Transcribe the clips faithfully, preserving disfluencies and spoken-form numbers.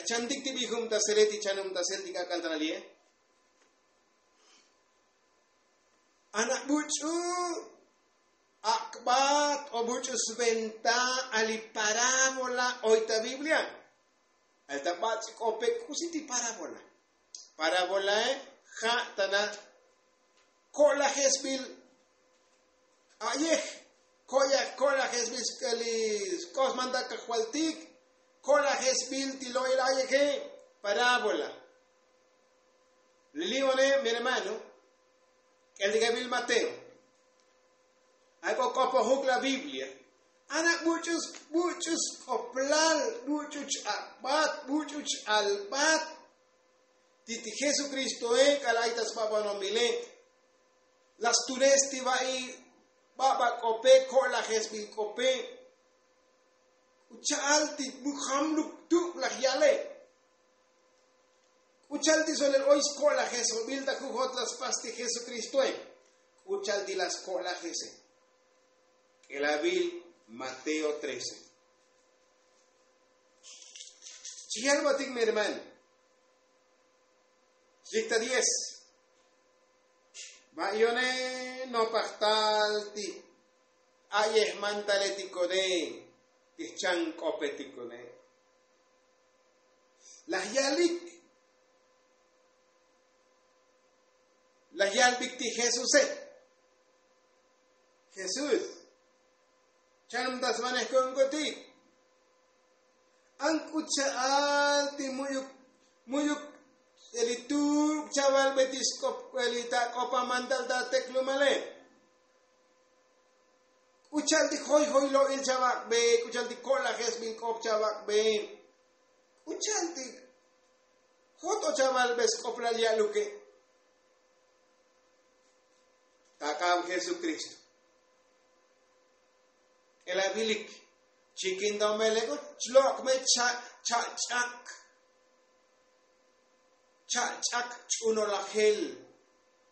Chantik ti bijubtasele ti chanubtasel ti k'ak'al ta lali'e. Ana buch'u ak'bat o buch'u sventa a li parábola oy ta biblia. Al ta bats'i k'ope k'usi ti parábola. Parábolae ja' tana ko'lajesbil a'yej, ko'lajesbil li sk'oxmanta kajvaltik, ko'lajesbil ti lo'il a'yeje. Parábola. Li li'one mi hermano, k'eltikebil mateo. Ay k'o k'opojuk la biblia. Ana buch'u buch'u sk'oplal, buch'u ch-ak'bat, buch'u ch-albat ti ti jesukristoe k'alal ay ta sbabanomile. La stules ti va'i baba k'ope, ko'lajesbil k'ope. K'u cha'al ti mujam luk tuk' laj yale. K'u cha'al ti solel oy sko'lajesobil ta jujot la spas ti jesukristoe. K'u cha'al ti la sko'lajese. K'elabil mateo trece. Chiyalbatik mi hermano. Xlik ta diez. Va'yone nopaj tal ti a'yejmantaletikone ti jchan k'opetikone. Laj yalik laj yalbik ti jesuse. Jesús, chanumtasvanej ko'onk'otik. An k'u cha'al ti mu'yuk mu'yuk eli tuk' chavalbe ti sk'op eli ta k'opamantal ta teklumale. K'u cha'al ti joyjoy lo'il chavak'be, k'u cha'al ti ko'lajesbil k'op chavak'be, k'u cha'al ti joto chavalbe sk'oplal ya'luke. Tak'ab jesukristo. K'elabilik chikindomeleko chlok' me cha'ch'ak cha'ch'ak ch'unolajel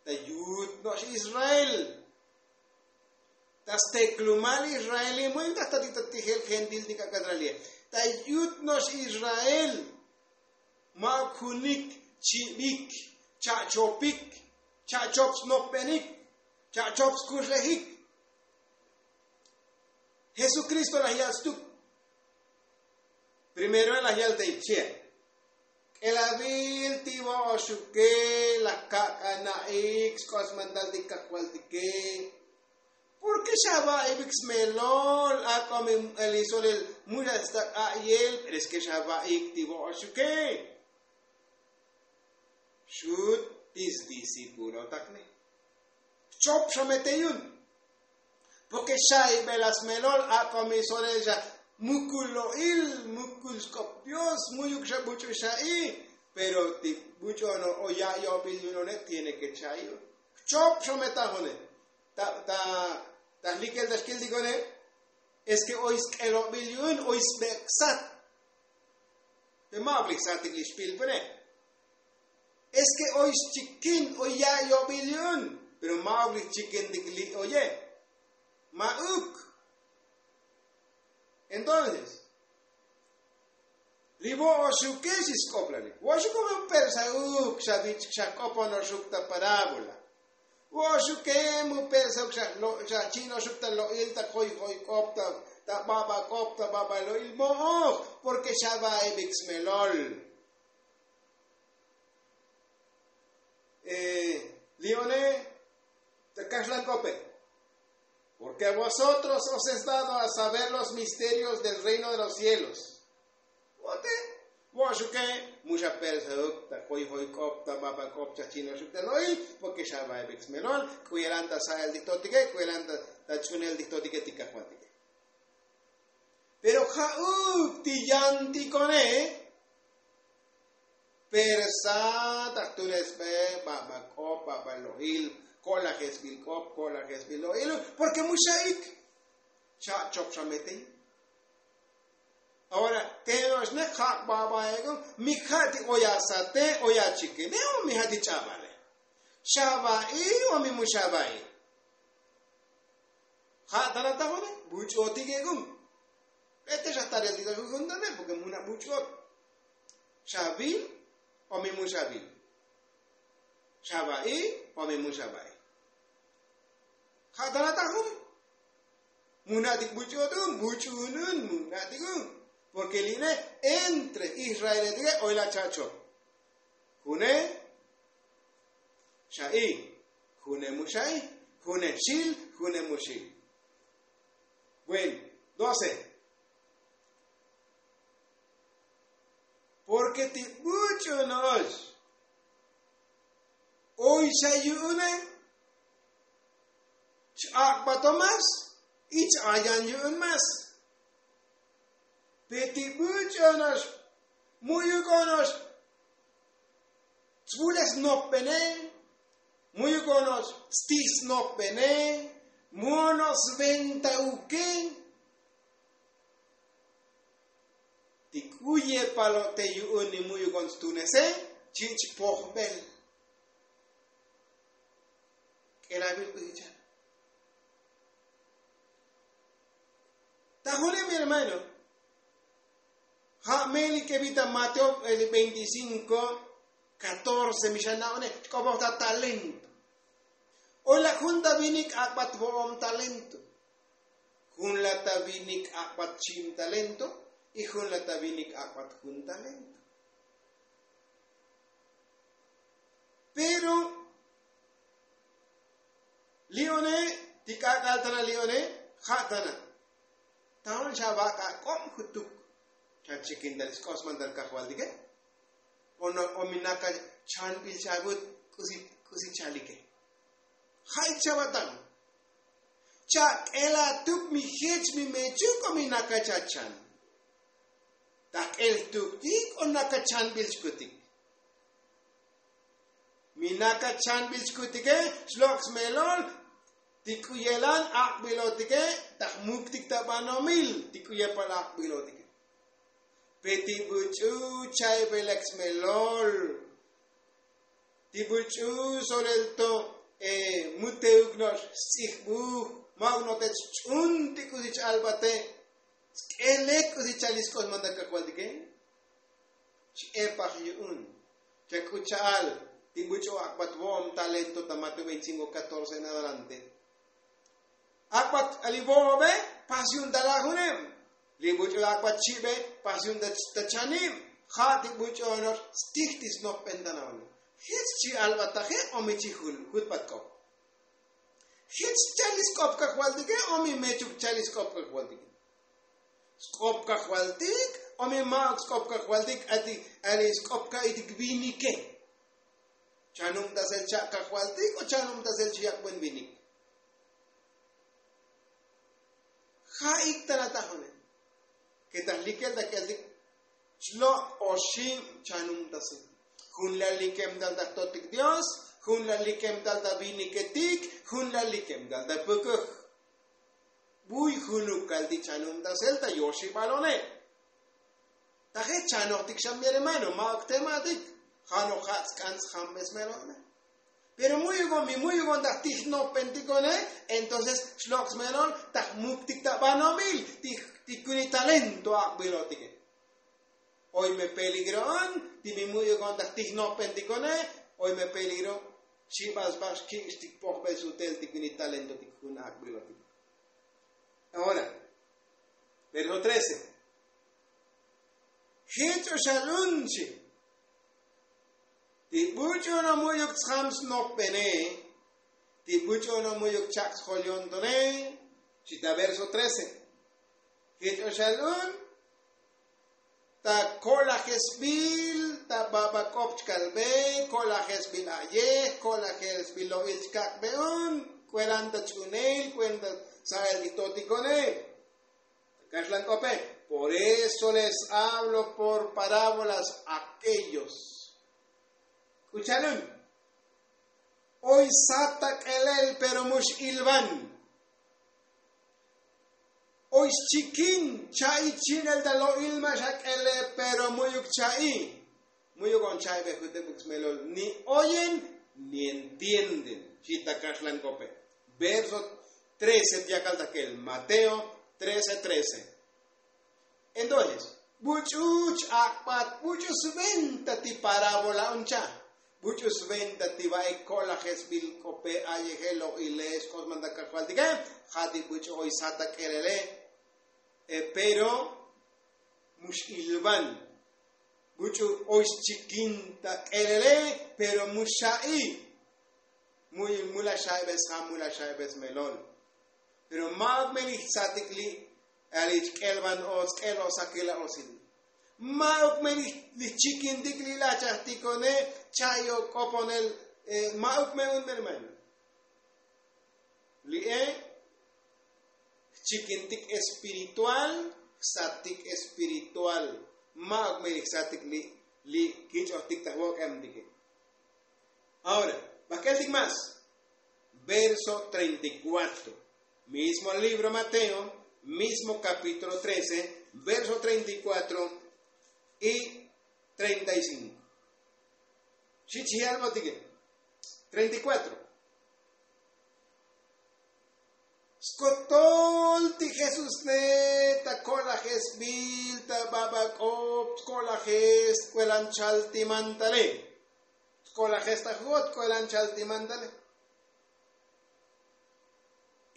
ta yut no'ox israel. Ta steklumal israel imu'in ta jtatik ta tijel gentil ti k'ak'al ta lali'e ta yut no'ox israel. Ma'uk junik chibik cha'chopik cha'chop snopbenik cha'chop skuxlejik. Jesukristo laj yal stuk. Primero laj yal ta ichea k'elabil ti vo'oxuke laj kak'ana'ik sk'oxmantal ti kajvaltike. Porke xava'ibik smelol ak'o mi elisolel muxastak a'yel pero es ke xava'ik ti vo'oxuke. Xut ti sdisipulotakne jchop xa me te yu'un. Porke xa ibel asmelol ak'o mi solel xa mukul lo'il mukul sk'op dios mu'yuk xa buch'u xa'i. Pero ti buch'u ono o ya' yo'bil yu'un one tiene ke cha'i. Jchop xa me taj one ta ta ta jlikel ta xkiltik one. Es ke oy sk'elobil yu'un oy sbek' sat. Pe ma'uk li jsatik li xpilpene. Es ke oy xchikin oy ya' yo'bil yu'un pero ma'uk li jchikintik li oye. Ma'uk. Entonces li vo'oxuke xi sk'oplalik vo'oxuke mu persauk xa vich' xa k'oponoxuk ta parábola. Vo'oxuke mu persauk xa chi'noxuk ta lo'il ta joyjoy k'op ta baba k'op ta baba lo'il mo'oj. Porke xa va'ebik smelol. Li one ta kaxlan k'ope. Porke a vosotros os es dado a saber los misterios del reino de los cielos. Vote vo'oxuke mu xa persauk ta joyjoy k'op ta baba k'op cha chi'noxuk ta lo'il porke xa va'ebik smelol. K'u yelan ta sa'el ti jtotike k'u yelan ta ch'unel ti jtotike ti kajvaltike. Pero ja'uk ti yantikone persa ta jtunesbe baba k'op baba lo'il ko'lajesbil k'op ko'lajesbil lo'il porke mu xa'ik. Cha'chop xa me te yu'un. Ahora te no'oxne ja' babaeko mi ja' ti oy asate oy achikine o mi ja' ti ch'abale. Xava'i o mi mu xava'i. Ja' tana tajone buch'uotik ek'un. Bete xa tarel ti ta jujun tane porke mu na buch'uot. Xavil o mi mu xavil? Xava'i o mi mu xava'i? Ja' tana tajun. Muna'tik buch'u'un un buch'u'un un muna'tik un. Porke li'ine entre israeletike oy la cha'cho. June xa'i, june mu xa'i, june xil, june mu xil. Bueno, doce. Porke ti buch'u no'ox oy xa yu'une, ch-ak'bato mas y ch-ayan yu'un mas. Pe ti buch'u no'ox mu'yuk ono'ox tsbulej snopbene, mu'yuk ono'ox stij snopbene, mu ono'ox sventauke. Ti k'u yepalo'te yu'un ni mu'yuk on stunese, chi' chpojbel. K'elabil k'u yichal. Ta june mi hermano, ja' melike bi ta mateo veinticinco catorce mi xa na'one, chk'opoj ta talento. Oy la jun ta vinik ak'bat vo'om talento. Jun la ta vinik ak'bat chi'im talento y jun la ta vinik ak'bat jun talento. Pero li'one, ti k'ak'al tana li'one, ja' tana. Taon xa vak'a k'ob jutuk. Chachikin tal sk'os man tal kajvaltike. O mi naka chanbil chavut k'usi chalike. Ja' ik chavatan. Chak'elatuk mi jech mi mechuk o mi naka chachan. Tak'el tuktik o naka chanbil chkutik. Mi naka chanbil chkutike, xlok' smelol ti k'u yelan ak'bilotike, ta jmuktik ta banomil ti k'u yepal ak'bilotike. Pe ti buch'u chaybelek smelol, ti buch'u solel to muteuk no'ox sts'ijbuj, ma'uk no'ox te ch'un ti k'usi ch'albate, sk'elek k'usi chal isk'os manda kajvaltike. X'epaj yu'un. Chak'u cha'al ti buch'u ak'bat vo'om talento ta mateo veinticinco catorce en adelante. Ak'bat ali vo'obe pas yu'un ta lajuneb. Li buch'u ak'bat chi'be pas yu'un ta chanib. Ja' ti buch'u ono'ox stij ti snojbentanaone. Jech chi albataje o mi chi jul jutbat k'op. Jech chal isk'op kajvaltike o mi mechuk chal isk'op kajvaltike. Sk'op kajvaltik o mi ma'uk sk'op kajvaltik. Ati ali sk'op ka'itik vinike. Chanubtasel cha' kajvaltik o chanubtasel chi yak'ben vinik. Ja' ik tana tajune. Ke ta likel ta k'eltik chlok' oxib chanubtasel. Jun la likem tal ta jtotik dios, jun la likem tal ta viniketik, jun la likem tal ta pukuj. Buy junuk kal ti chanubtasel ta yoxibalone. Ta je' chanojtik xa mi hermano, ma'uk tematik. Ja' noj ja' tsk'an tsjambesmelone. Pero mu'yuk on mi mu'yuk on ta jtij jnojbentikone, entonces xlok' smelol ta jmuktik ta banomil ti kunik talento ak'bilotike. Oy me peligro on ti mi mu'yuk on ta jtij jnojbentikone. Oy me peligro xibal sba xkik' xtik pojbel sutel ti kunik talentotik jun ak'bilotike. Ahora, verso trece. Jech o xal un xi. Ti buch'u no mu'yuk tsjam snopbene, ti buch'u no mu'yuk chak' sjol yontone. Xi ta verso trece. Jech o xal un ta ko'lajesbil ta baba k'op chkalbe, ko'lajesbil a'yej, ko'lajesbil lo'il chkak'be un. K'uelan ta ch'unel, k'uelan ta sa'el ti totikone. Ta kaxlan k'ope. Por eso les hablo por parábolas a aquellos. K'u cha'al un. Oy sat ta k'elel pero mu x'ilvan. Oy xchikin cha'i chinel ta lo'il ma' xak'ele pero mu'yuk cha'i. Mu'yuk on cha'i bejutebuk smelol ni oyen ni entienden. Xi ta kaxlan k'ope. Verso trece ti yakal ta k'el mateo trece trece. Entonces Buch'u ch'ak'bat buch'u sventa ti parábola un cha'. Buch'u sventa ti va'ik ko'lajesbil k'ope a'yeje lo'ile xk'osmanta kajvaltike. Ja' ti buch'u oy sat ta k'elele. Pero mu x'ilvan. Buch'u oy xchikin ta k'elele pero mu xa'i. Mu la xa'ibes ja' mu la xa'ibes melol. Pero ma'uk me li jsatik li' ali chk'elvan o sk'el o sakil a osil. Ma'uk me li jchikintik li' lachajtikone. Cha'i o k'oponel. Ma'uk me un hermano. Li'e jchikintik espiritual. Jsatik espiritual. Ma'uk me li jsatik li' li' kich'ojtik ta jvok'emtike. Ahora, bak'eltik más. Verso treinta y cuatro. Mismo libro mateo, mismo kapítulo trece, verso treinta y cuatro y treinta y cinco. Xi chi algo tike. Treinta y cuatro. Skotol ti jesús ne ta ko'lajesbil ta babak'op ko'lajes kuelan chaltimantale. Ko'lajes ta jot ko'lan chaltimantale.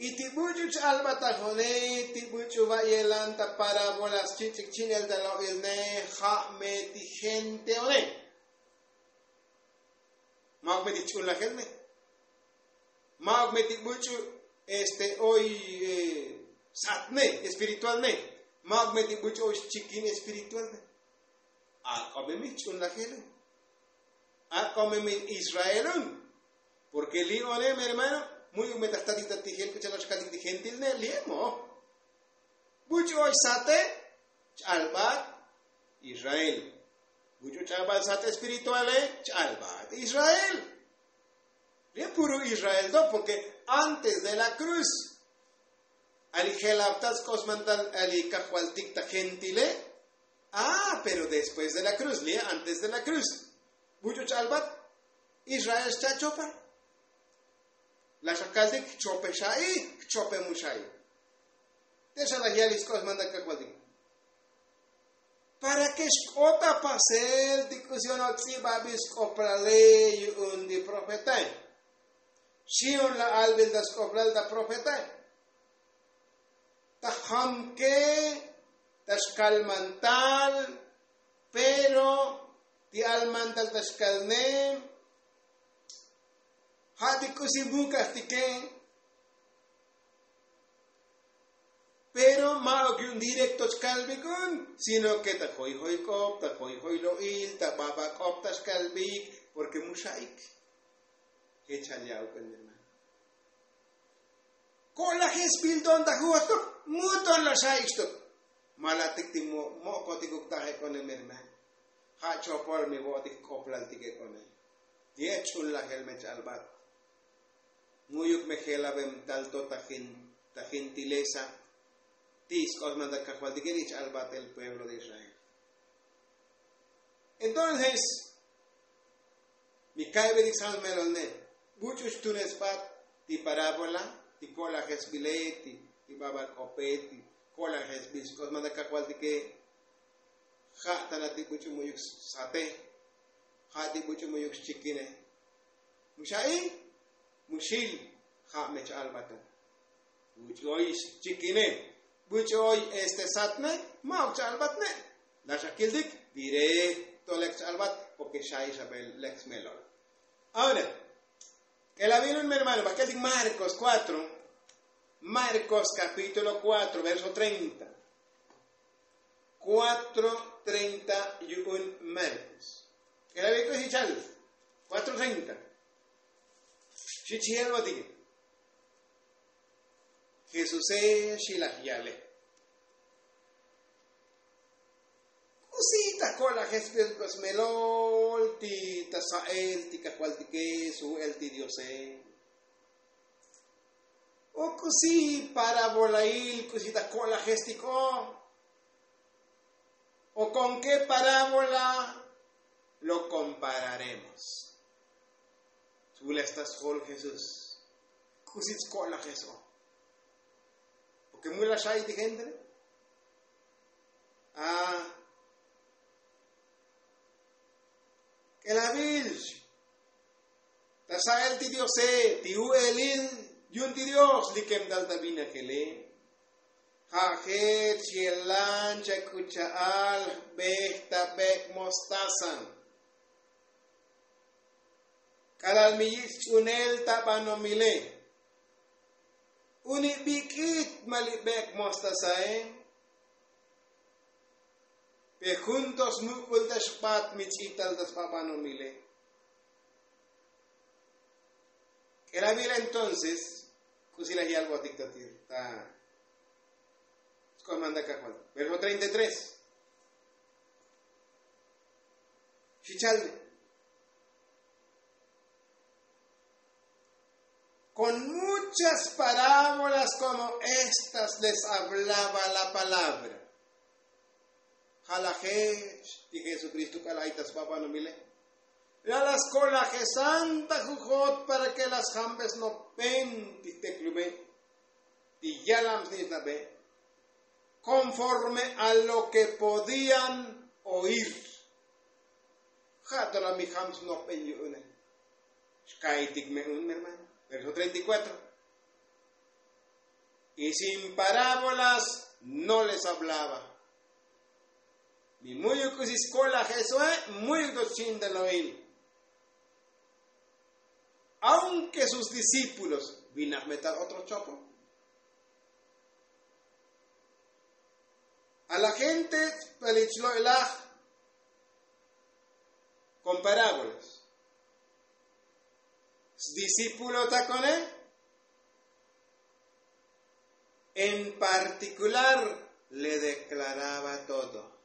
Y ti buch'u ch'albatajone ti buch'u va'yelan ta parábolas chich'ik chinel ta lo'ilne. Ja' me ti genteone. Ma'uk me ti ch'ulajel me. Ma'uk me ti buch'u este oy satne espiritual ne. Ma'uk me ti buch'u oy xchikin espiritual ne. Ak'o me mi ch'ulajel. Ak'o me mi israelun. Porke li' one mi hermano. Mu'yuk me ta jtatik ta tijel k'uchal oxkatik ti gentil ne li' emo. Buch'u oy sate ch'albat israel. Buch'u ch'albat sat espirituale ch'albat israel. Li' puru israel do porke antes de la kruz ali jelabtal sk'osmantal ali kajvaltik ta gentile. Ah pero después de la kruz li' antes de la kruz. Buch'u ch'albat israel xcha' chopal. La xakaltik jchope xa'i jchope mu xa'i. Te xa laj yalik sk'osmantal kajvaltik. Para ke xk'ot ta pasel ti k'usi onok tz'ibabil sk'oplale yu'un ti profetae. Xi'un la albil ta sk'oplal ta profetae. Ta jamke ta xkalmantal. Pero ti almantal ta xkalne. Ja' ti k'usi mukajtike. Pero ma'uk yu'un directo chkalbikun sino ke ta joyjoy k'op ta joyjoy lo'il ta babak'op ta xkalbik. Porke mu xa'ik. Jech chal ya'uk el hermano. Ko'lajes bilton ta ju'oxtok. Muton la xa'ik xtok. Malatik ti mo'kotik uktaje kone mi hermano. Ja' chopol mi vo'otik jk'oplaltike kone. Ye' ch'ulajel me ch'albat. Mu'yuk me jelabem tal to ta gentilesa. Ti' sk'osmantal kajvaltike li' ch'albat el pueblo de israel. Entonces mi ka'ibelik sal melol ne. Buch'u xtunesbat ti parábola ti ko'lajesbile ti babak'ope ti ko'lajesbil sk'osmantal kajvaltike. Ja' tana ti buch'u mu'yuk sate. Ja' ti buch'u mu'yuk xchikine. Mu xa'i mu xil. Ja' me cha'albato. Buch'u oy xchikine. Buch'u oy este satne. Ma'uk cha'albatne. La xakiltik directo lek cha'albat porke xa'i xabel lek smelol. Ahora k'elabil un mi hermano bak'eltik marcos kuatro. Marcos kapítulo kuatro verso treinta. Kuatro treinta yu'un marcos. K'elabil k'usi chal. Kuatro treinta. Xi chi yelbotike. Jesuse xi laj yale. K'usi ta ko'lajes bilk'o smelol ti ta sa'el ti kajvaltike su'el ti diose? O k'usi parabolail k'usi ta ko'lajes tik'o? O kon ke parabola lo kompararemos? Svules ta sjol jesús. K'usi tsko'lajes o? Porke mu la xa'i ti gente ne. A K'elavil ta sa'el ti diose ti u'elil yu'un ti dios likem tal ta vinajele. Ja' jech yelan chak'ucha'al jbej ta bek' mostaza. K'alal mi yich' ch'unel ta banomile. Uni bik'it ma li bek' mostazae. Pe jun to smuk'ul ta xbat mi ch'ital ta sba banomile. K'elavil entonces k'usi laj yalbotik ta ti ta sk'oman ta kajbal. Verso treinta y tres. Xichal con muchas parábolas como estas les hablaba la palabra. Ja' laj jech ti jesukristo k'alal ay ta sba banomile. La' las kolajesan ta jujot para ke las jambesnopen ti jteklume ti yalam snich'nabe konforme a lo ke podían oír. Ja' to la mi jam snojben yu'une. Xkaitik me un mi hermano. Verso treinta y cuatro. Y sin parábolas no les hablaba. Mi mu'yuk k'usi skolajesoe mu'yuk to xchintalo'il. Aunke sus discípulos vinaj metal otro chopo. A la gente palichlo'ilaj kon parábolas. Sdiscípulo takone en partikular le deklaraba todo.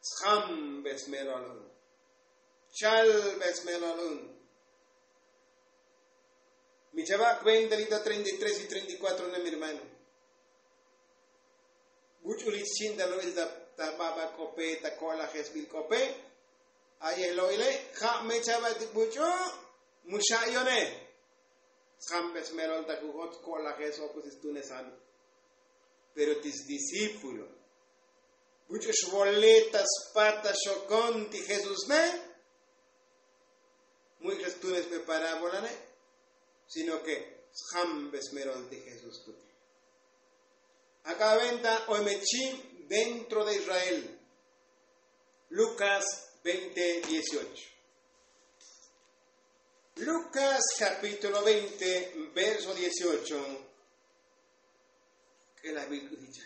Sjambes melol un. Chalbes melol un. Mi chava' kuenta li ta treinta y tres y treinta y cuatro ne mi hermano. Buch'u li chinta lo'il ta baba k'ope ta ko'lajesbil k'ope. Aye lo'ile ja' me chava' ti buch'u. Mu xa'yone. Sjambes melol ta jujot ko'lajes o kusi stunesal. Pero ti sdiscípulo buch'u xvole ta spat ta xokon ti jesús ne. Mu'ik xestunes pe parábola ne. Sino ke sjambes melol ti jesús tuke. Ak'a venta oy me chi dentro de israel. Lucas veinte dieciocho. Lucas capítulo veinte verso dieciocho. K'e la biblia dicha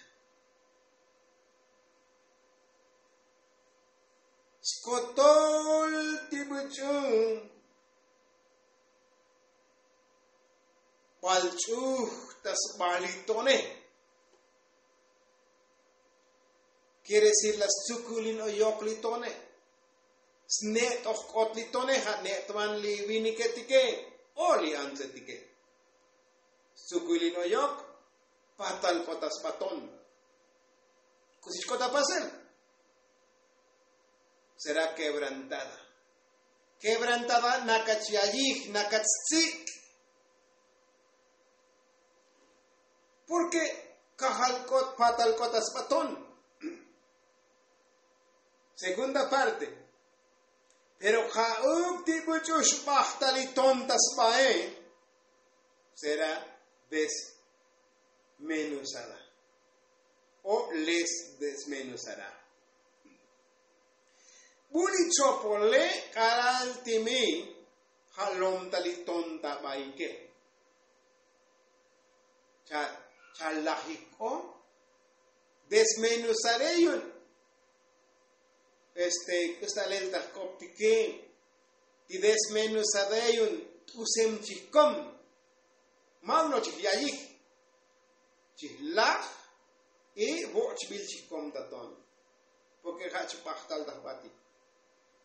skotol ti buch'u. Bal ch'uj ta sbalitone. Kiere decir la stzukulin oyok li tone. Sne't'oj k'ot li tone ja' ne'tvan li viniketike o li antzetike. Stzukulin oyok patal k'ot ta sbaton. K'usi chk'ot ta pasel. Será kebrantada. Kebrantada nakach yayij nakach stsik'. Porke kajal k'ot patal k'ot ta sbaton. Segunda parte. Pero ja'uk ti buch'u xbajtal li ton ta sbae. Será desmenuzada. O les desmenuzará. Bu li chopole k'alal ti mi ja' lomta li ton ta baike. Chalajik k'o desmenuzare yu'un. Este k'usi ta lel ta jk'optike ti desmenuzare yu'un. T'usem chijkom. Ma' uno chij yayij chij laj. Y vo'chbil chij kom ta ton. Porke ja' chbajtal ta jbatik.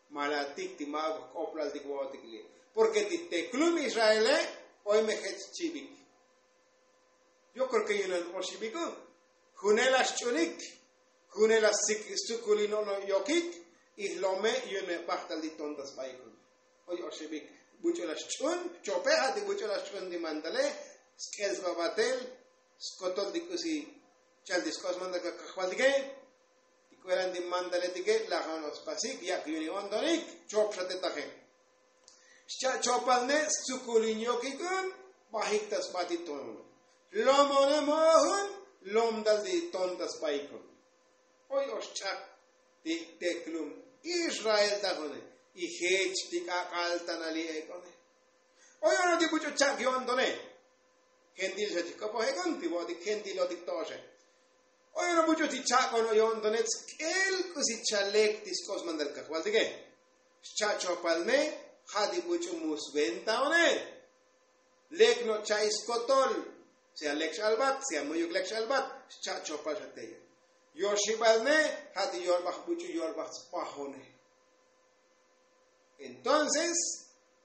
Malatik ti ma' jk'oplaltik vo'otik li'. Porke ti teklum israele oy me jech chibik. Yo kreo ke yunan oxibik u. Junel la xch'unik. Junel la stzukulino'no' yokik. Y jlome' yu'un me bajtal ti ton ta sbaik un. Oy oxibik buch'u la xch'un chope ja' ti buch'u la xch'un ti mandale. Sk'el sba batel. Skotol ti k'usi chal ti sk'os mandal kajvaltike. Veranti mantaletike' lajan ospasik yak' yuni ontonik chop xa te taje. Xcha' chopal ne stsukulin yokikun bajik ta sbatik ton. Lomone mo'ojun lomtal ti ton ta sbaikun. Oy oxch'ak ti teklum israel tajone. Y jech ti k'ak'al tanali ek'one. Oy ono ti buch'u chak yo'ntone. Gentil xa chik k'opoj ek'on ti bo'otik gentilotik to'oxe. Oy ono buch'u ti chak ono yo'ntone tsk'el k'usi chalek ti sk'os mandal kajvaltike. Xcha' chopal ne ja' ti buch'u mu sventaone. Lek no' cha'i skotol. Sea lek x'albat sea mu'yuk lek x'albat. Xcha' chopal xa teye. Yoxibal ne ja' ti yorbaj buch'u yorbaj tspajone. Entonces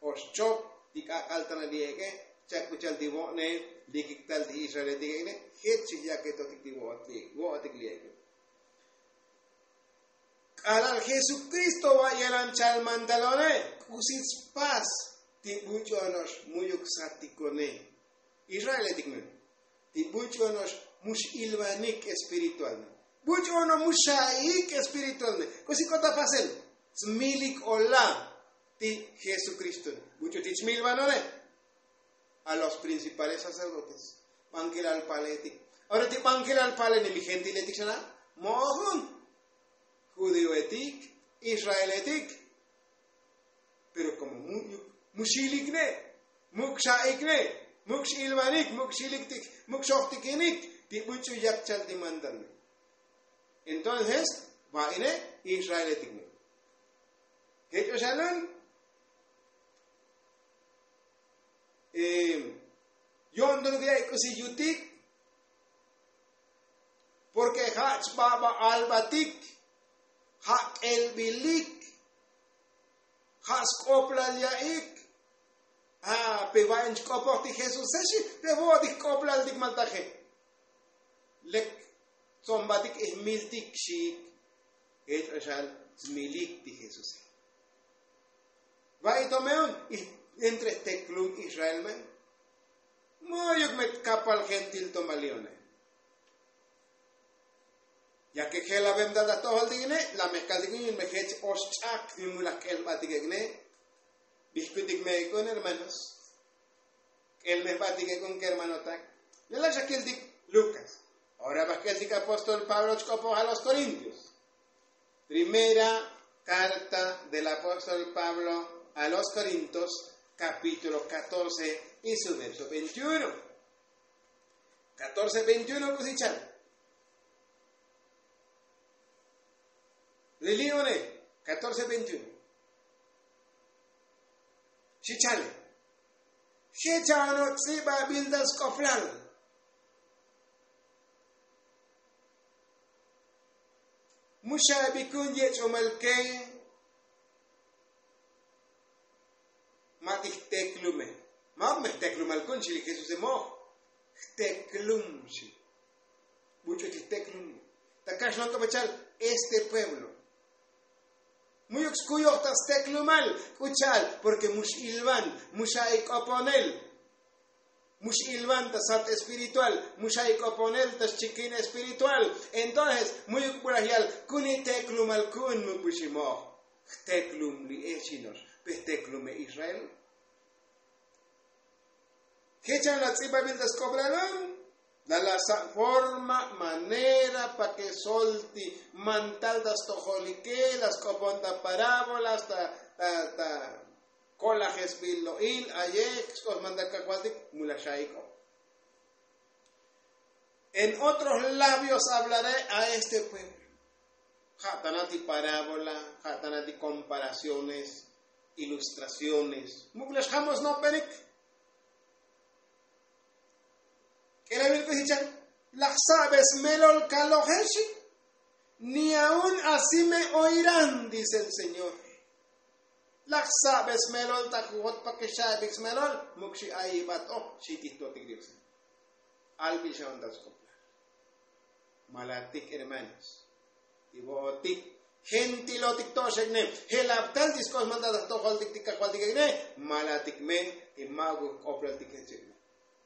oxchop ti k'ak'al tanal li ek'e. Chak k'u cha'al ti vo'ne likik tal ti israeletik ek'ne. Jech chijyaketotik ti vo'otik li ek'e. K'alal jesukristo va' yelan chal mandalone. K'usi tspas ti buch'u ono'ox mu'yuk satikone. Israeletik me ti buch'u ono'ox mu x'ilvanik espiritual ne. Buch'u ono mu xa'ik espiritual ne. K'usi k'ot ta pasel smilik ola ti jesukristo ne. Buch'u ti chmilvanone a los principales sacerdotes. Bankilal paletik. Ora ti bankilal pale ne mi gentiletik xana mo'ojun judioetik israeletik. Pero komo mu' xilikne muk' xa'ikne muk' x'ilvanik muk' xiliktik muk' xojtikinik ti buch'u yak chal ti mandalme. Entonces va'ine israeletikne jech oxalun yo'ntonuk ya'i k'usi yutik. Porke ja' chbaba albatik ja' k'elbilik ja' sk'oplal ya'ik. Pe va'in chk'opoj ti jesuse xi pe vo'otik jk'oplaltik maltaje. Lek tzombatik ijmiltik xiik jech oxal smilik ti jesuse. Va'i to me'un entre jteklum israel me. Mu'yuk me tkapal gentil to malione. Ya ke jelavem ta ta jtojol tikine la me jkal tikine yun me jech oxch'ak yun mulaj k'elbatik ek'ne. Bijkutik me ek'un hermanos. K'elmejbatik ek'un kermanotak. Lelak xa kiltik lukas. Ora baj k'eltik apóstol pablo chk'opoj a los korintios. Primera carta del apóstol pablo a los korintos, kapítulo katorce y su verso veintiuno. Katorce veintiuno k'usi chal. Lili' one katorce veintiuno. Xi chale. Jecha' ono' tz'ibabil ta sk'oplal. Mu xa'ibikun yech'omal ke. Ma' ti jteklume. Ma' ok me jteklumal kun xi li jesuse mo'oj. Jteklum xi. Buch'u ti jteklum. Ta kaxlon k'o bachal este pueblo. Mu'yuk skuyoj ta steklumal k'u cha'al porke mu x'ilvan mu xa'i k'oponel. Mu x'ilvan ta sat espiritual mu xa'i k'oponel ta xchikin espiritual. Entonces mu'yuk bulaj yal kuni teklumal ku'un muk buxi mo'oj. Jteklum li echinox pe jteklume israel. Jechan la tz'ibabil ta sk'oplal un. La la sa' forma manera pa ke sol ti mantal ta stojolike la sk'opon ta parábolas ta ta ta kolajesbil lo'il ayek sk'os mantal kajvaltik mu la xa'ik'o. En otros labios hablaré a este pueblo. Ja' tana ti parábola ja' tana ti komparaciones ilustraciones muk' lex jamos nopenik. K'elavil k'usi chan laj sabe smelol kaloje xi. Ni aun asi me oiran dice el señor. Laj sabe smelol ta jujot pa ke xaibik smelol muk xi ayibat o xi tijtotik diose. Albil xa on ta sk'oplal. Malatik hermanos ti vo'otik gentilotik to'oxekne. Jelabtal ti sk'os mantal ta jtojoltik ti kajvaltikekne. Malatik me ti ma'uk jk'oplaltik jechekne.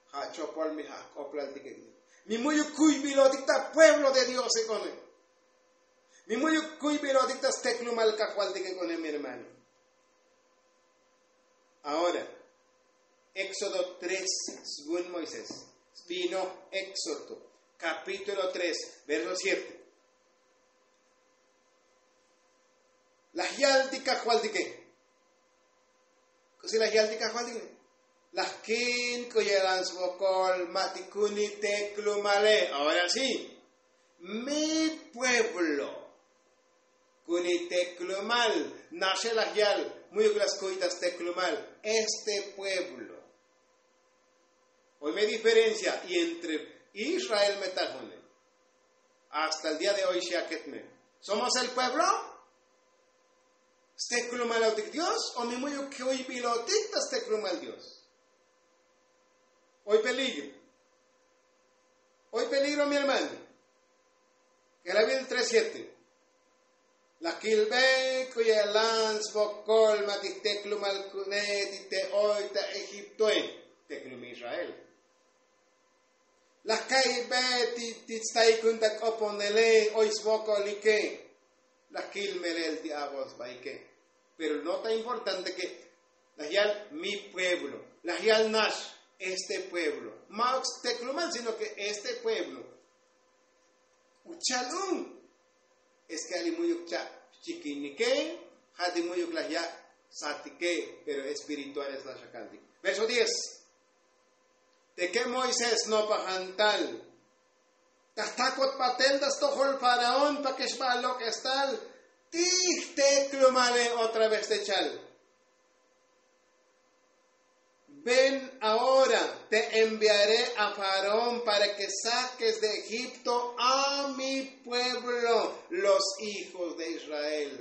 Ja' chopol mi ja' jk'oplaltikekne. Mi mu'yuk kuybilotik ta pueblo de dios ek'one. Mi mu'yuk kuybilotik ta steklumal kajvaltike k'one mi hermano. Ahora, éxodo tres, svun moisés, sbinoj éxodo, kapítulo tres, verso siete. Laj yal ti kajvaltike. K'usi laj yal ti kajvaltike? Laj kil k'u ye'lan svokol ma' ti kuni teklumale. Ahora sí, mi pueblo kuni teklumal. Naxe laj yal, mu'yuk la skuy ta steklumal este pueblo. Oy me diferencia y entre israel me tajone. Hasta el día de hoy xi aket me, somos el pueblo? Steklumalotik dios o mi mu'yuk kuybilotik ta steklumal dios? Oy peligro. Oy peligro mi hermano. K'elavil tres siete. La kilbe k'u ye'lan svokol ma' ti jteklumal ku'une ti te oy ta egiptoe. Teklum israel. La ka'ybe ti ti tstaikun ta k'oponele oy svokolike. La kil melel ti avo sbaike. Pero no ta importante ke laj yal mi pueblo, laj yal nax este pueblo. Ma'uk steklumal sino ke este pueblo. Ucha'al un es ke ali mu'yuk cha' xchikinike. Ja' ti mu'yuk laj ya' satike. Pero espirituales laj xakantik. Verso diez. Teke moisés nopajan tal ta jtakot batel ta stojol faraón pake xba lok'es tal. Ti jteklumale otra vez te chal. Ven ahora, te enviaré a faraón para ke saques de egipto a mi pueblo, los hijos de israel.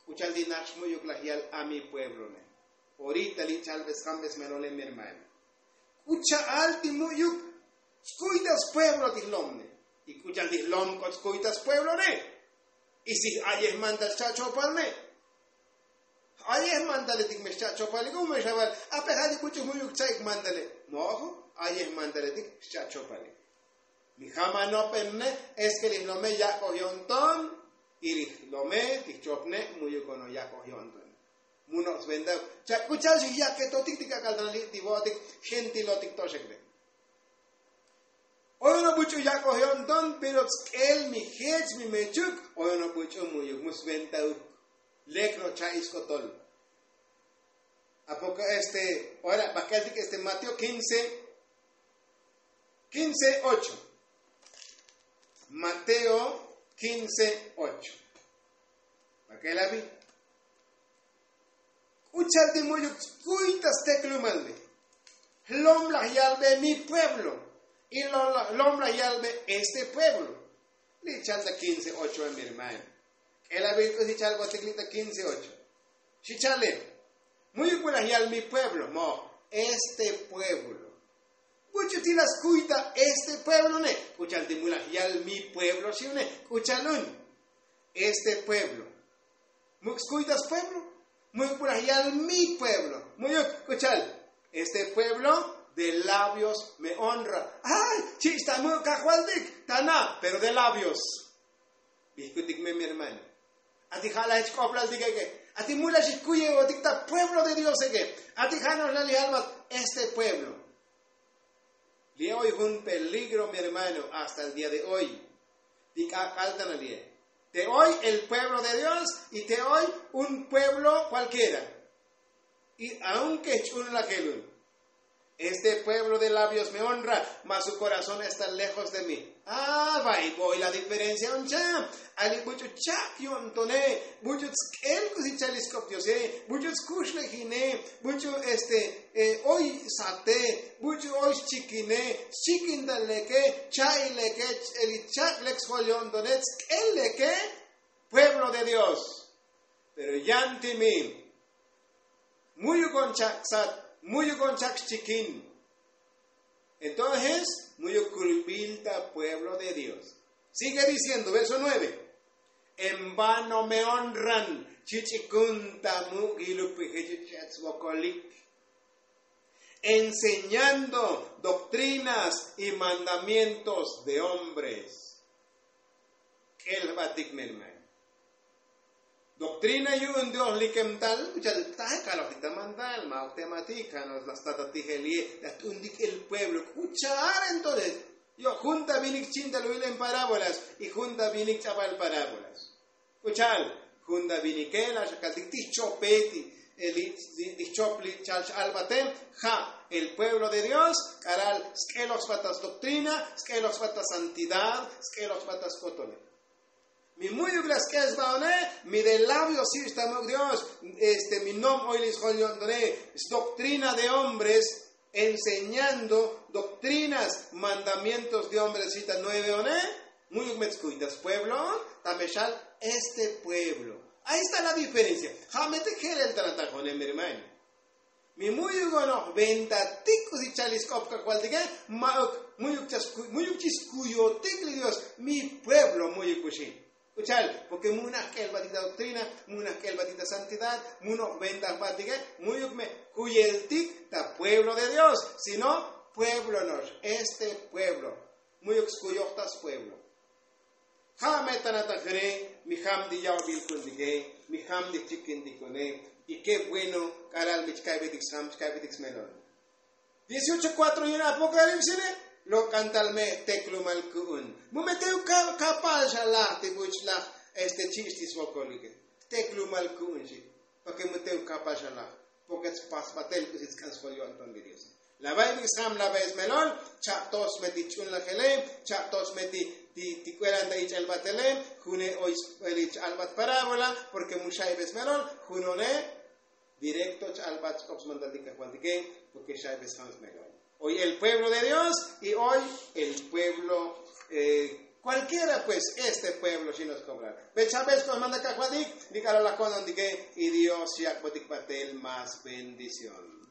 K'u cha'al ti nax mu'yuk laj yal a mi pueblo ne? Orita li' cha'al be sjambes melole mi hermano. K'u cha'al ti mu'yuk skuy ta spueblo ti jlom ne? Y k'u cha'al ti jlom k'ot skuy ta spueblo ne? Y si j'ayej mandal xcha' chopal me. J'ayej mandaletik me xcha' chopalik u me xaval. Ape ja' li buch'u mu'yuk cha'ik mandale. Mojo, j'ayej mandaletik xcha' chopalik. Mi ja' ma' nopen ne. Es ke li jlome yak'oj yo'nton. Y li jlome ti jchopne mu'yuk ono yak'oj yo'nton. Mu no' sventauk. Cha' k'u cha'al xijyaketotik ti k'ak'al ta li' ti vo'otik. Gentilotik toxekne. Oy ono buch'u yak'oj yo'nton. Pero tsk'el mi jech mi mechuk. Oy ono buch'u mu'yuk mu sventauk. Lek no' cha'i sk'otol. Apoko este ora bak'eltik este mateo quince, quince ocho. Mateo quince ocho. Bak'el abi. K'u cha'al ti mu'yuk skuy ta steklumal ne? Jlom laj yalbe mi pueblo. Y jlom laj yalbe este pueblo. Li' cha'al ta quince ocho a mi hermano. K'elabil k'usi cha'al botik li' ta quince ocho. Xi cha'ale. Mu'yuk mu laj yal mi pueblo mo este pueblo. Buch'u ti la skuy ta este pueblo ne? K'u cha'al ti mu laj yal mi pueblo xi une? K'u cha'al un este pueblo. Muk' skuy ta spueblo. Muk' mu laj yal mi pueblo. Mu'yuk k'u cha'al este pueblo de labios me honra. Ay, chich' ta muk' kajvaltik ta na pero de labios. Bijkutik me mi hermano. Ati ja' laj jech k'oplaltik eke. Ati mu laj xikuyevotik ta pueblo de dios eke. Ati ja' no'ox laj li jalbat este pueblo. Li' oy jun peligro mi hermano hasta el día de hoy. Ti k'ak'al ta na li'e. Te oy el pueblo de dios y te oy un pueblo kualkiera. Y aunke jch'un lajelun este pueblo de labios me honra mas su korazón esta lejos de mi. A va'i voy la diferencia un cha'. Ali buch'u chak' yo'ntone. Buch'u tsk'el k'usi cha'al isk'op diose. Buch'u tskuxlejine. Buch'u este oy sate. Buch'u oy xchikine. Xchikinta leke. Cha'i leke. Eli chak' lek sjol yo'ntone tsk'el leke. Pueblo de dios. Pero yan ti mi mu'yuk on chak' sat. Mu'yuk on chak' xchikin. Entonces mu'yuk kuybil ta pueblo de dios. Sigue diciendo verso nueve. En vano me honran. Chich'ikun ta muk' yiluk pi jech ch'et svokolik enseñando doctrinas y mandamientos de hombres. K'el jbatik me hermano. Doktrina yu'un dios likem tal uchal taje kalojtik ta mandal ma' ok tematik kano'ox la stata tijelie la t'untik el pueblo k'ucha'al entonces. Yo' jun ta vinik chin ta luyil en parábolas y jun ta vinik ch'abal parábolas. K'ucha'al jun ta vinike la' xakaltik ti jchope ti jchop li chal xalbate. Ja' el pueblo de dios k'alal sk'eloj sba ta sdoktrina, sk'eloj sba ta santidad, sk'eloj sba ta skotone. Mi mu'yuk la sk'el sba one. Mi de labios si' xtamuk dios. Este mi nom oy li sjol yo'ntone sdoktrina de hombres, enseñando doktrinas mandamientos de hombres si' ta nueve one. Mu'yuk me tskuy ta spueblo ta me xal este pueblo. Ahí sta la diferencia. Ja' me te jelel ta natajone mi hermano. Mi mu'yuk onoj ventatik k'usi chal li sk'op kajvaltike. Ma'uk mu'yuk chaskuy mu'yuk chiskuyotik li dios. Mi pueblo mu'yuk kuxin. K'ucha'al porke mu'naj k'elbatik ta doktrina, mu'naj k'elbatik ta santidad, mu'noj ventajbatike. Mu'yuk me kuyeltik ta pueblo de dios sino pueblo no'ox este pueblo. Mu'yuk skuyoj ta spueblo. Ja' me ta natajine mi jam ti ya'obil ku'untike, mi jam ti chikintik ku'une. Y ke bueno k'alal mi chka'betik sjam chka'betik smelol. Dieciocho kuatro yun apokalipsine. Lok'antal me jteklumal ku'un mu me teuk kapal xalaj ti buch laj este chich' ti svokolike. Jteklumal ku'un xi' porke mu teuk kapal xalaj. Porke tspasbatel k'usi tsk'an sjol yo'nton li diose. La ba'ibik sjam la ba'e smelol. Cha'tos me ti ch'unlajele, cha'tos me ti k'uelan ta ich'el batele. June oy sbeli ch'albat parábola porke mu xa'ibes melol. Junone direkto ch'albat chk'op smandaltik kajvaltike. Porke xa'ibes sjam smelol. Oy el pueblo de dios y oy el pueblo kualkiera pues este pueblo xino skobrar. Becha'bes k'o smandal kajvaltik li k'alal la ko'nontike. Y dios yak'botik batel más bendición.